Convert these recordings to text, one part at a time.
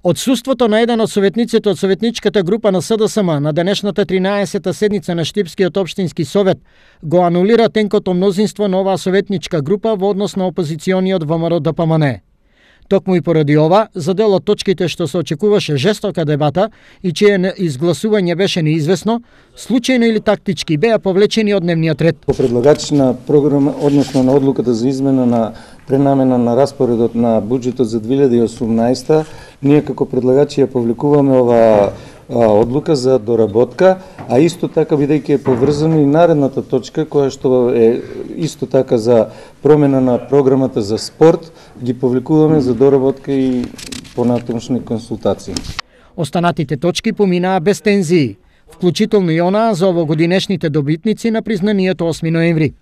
Одсуството на еден од советниците од советничката група на СДСМ на денешната 13-та седница на Штипскиот општински совет го анулира тенкото мнозинство на оваа советничка група во однос на опозициониот ВМРО-ДПМН. Токму и поради ова, за дел од точките што се очекуваше жестока дебата и чие изгласување беше неизвестно, случајно или тактички беа повлечени од дневниот ред. По предлагач на програма, односно на одлуката за измена на пренамена на распоредот на буџетот за 2018, ние како предлагачи ја повлекуваме оваа одлука за доработка, а исто така бидејќи е поврзано и наредната точка која што е исто така за промена на програмата за спорт, ги повлекуваме за доработка и понатамошни консултации. Останатите точки поминаа без тензии, вклучително и онаа за овогодинешните добитници на признанието 8 ноември.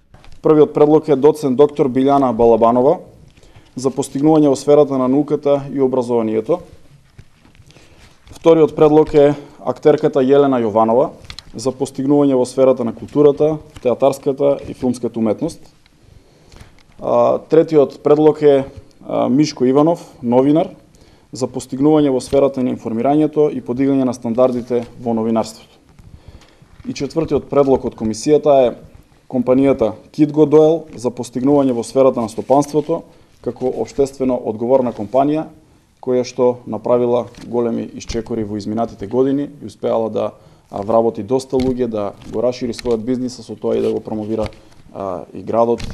Првиот предлог е доцент доктор Билјана Балабанова за постигнување во сферата на науката и образованието. Вториот предлог е актерката Јелена Јованова за постигнување во сферата на културата, театарската и филмската уметност. Третиот предлог е Мишко Иванов, новинар, за постигнување во сферата на информирањето и подигање на стандардите во новинарството. И четвртиот предлог од комисијата е компанијата Kitgo Doyle за постигнување во сферата на стопанството како општествено одговорна компанија која што направила големи исчекори во изминатите години и успеала да вработи доста луѓе, да го расшири својот бизнис, со тоа и да го промовира и градот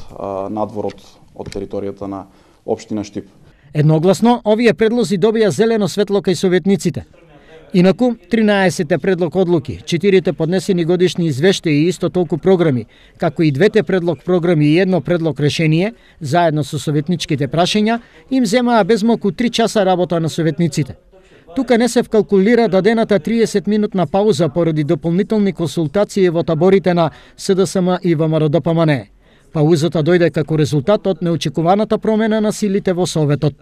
надвор од територијата на општина Штип. Едногласно, овие предлози добија зелено светло кај советниците. Инаку, 13 предлог одлуки, 4 поднесени годишни извештаи и исто толку програми, како и 2 предлог програми и 1 предлог решение, заедно со советничките прашања, им земаа безмалку 3 часа работа на советниците. Тука не се вкалкулира дадената 30-минутна пауза поради дополнителни консултации во таборите на СДСМ и ВМРО-ДПМН. Паузата дојде како резултат од неочекуваната промена на силите во Советот.